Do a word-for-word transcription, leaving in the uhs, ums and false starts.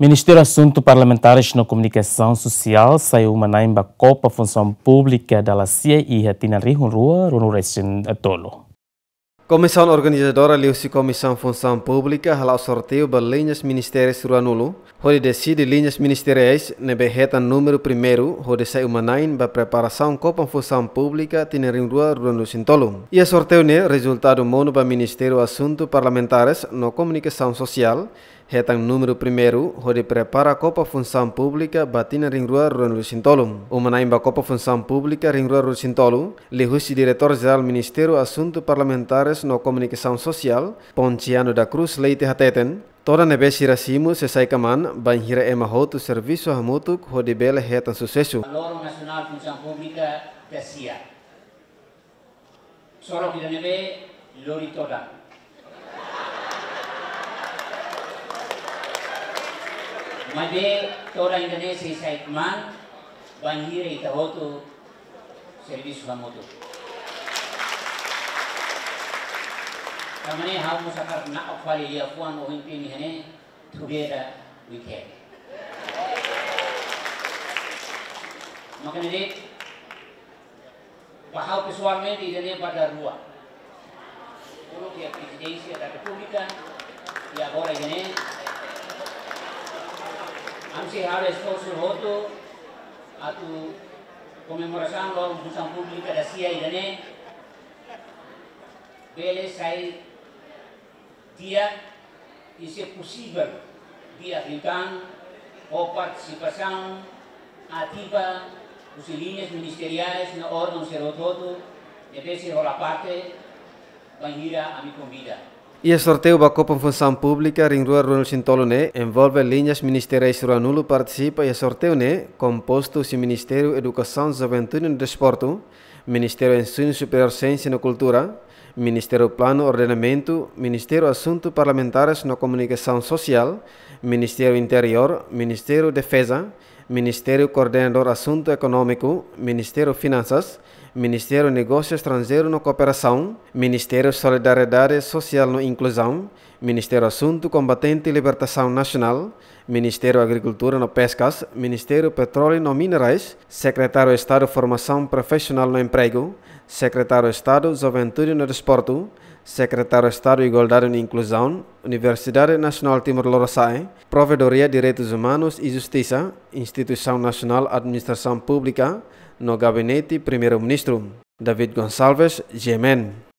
Ministériu Asuntu Parlamentares no Komunikasaun Sosiál sai uma-na'in ba Kopa Funsaun Públika dala sia iha tinan rihun rua ruanulu-resin-tolu. Komisaun organizadora liuhusi Komisaun Funsaun Públika hala'o sorteiu ba liñas ministérius ruanulu, hodi deside liñas ministeriais ne'ebé hetan númeru primeiru hodi sai uma-na'in ba preparasaun Kopa Funsaun Públika tinan rihun rua ruanulu-resin-tolu. Iha sorteiu ne'e rezultadu monu ba Ministériu Asuntu Parlamentares no Komunikasaun Sosiál, hetan númeru primeiru hodi prepara Kopa Funsaun Públika ba tinan rihun rua ruanulu-resin-tolu. Uma-na'in ba Kopa Funsaun Públika rihun rua ruanulu-resin-tolu, liuhusi Diretór Jerál Ministériu Asuntu Parlamentares no Komunikasaun Sosiál, Ponciano da Cruz Leite hateten, todan ne'ebé sira simu sei sai kmaan bainhira ema hotu servisu hamutuk hodi bele hetan susesu. Loron Nasionál Funsaun Públika da sia. Sorok ida-ne'ebé lori todan. Maibé todan ida-ne'e sei sai kmaan bainhira ita hotu servisu hamutuk. Tanba ne'e ha'u mós hakarak na'ok fali liafuan ohin temi iha ne'e, together we can. Maka ne'e de'it, ba ha'u pesoalmente ida-ne'e ba dalan rua. Uluk iha Prezidénsia da Repúblika, i agora ida-ne'e. Ami sei halo esforsu hotu atu komemorasaun Loron Funsaun Públika da sia ida-ne'e bele sai di'ak i se posivel di'ak liután ho partisipasaun ativa husi liñas ministeriais no órgaun sira hotu-hotu ne'ebé sei hola parte bainhira ami konvida. Iha sorteiu ba Kopa Funsaun Públika rihun rua ruanulu-resin-tolu ne'e envolve liñas ministeriais ruanulu partisipa iha sorteiu ne'e kompostu husi Ministériu Edukasaun, Juventude no Desportu, Ministériu Ensinu Superiór, Siénsia no Kultura, Ministériu Planu Ordenamentu, Ministériu Asuntu Parlamentares no Komunikasaun Sosiál, Ministériu Interiór, Ministériu Defeza, Ministériu Koordenadór Asuntu Ekonómiku, Ministériu Finansas, Ministériu Negósiu Estranjeiru no Kooperasaun, Ministériu Solidariedade Sosiál no Inkluzaun, Ministériu Asuntu Kombatente Libertasaun Nasionál, Ministériu Agrikultura no Peskas, Ministériu Petróleu no Minerais, Sekretáriu Estadu Formasaun Profisionál no Empregu, Sekretáriu Estadu Juventude no Desportu, Sekretáriu Estadu Igualdade no Inkluzaun, Universidade Nasionál Timor Lorosa'e, Provedoria Direitus Umanus i Justisa, Instituisaun Nasionál Administrasaun Públika, no Gabinete Primeiru-Ministru. David Gonçalves, G M N.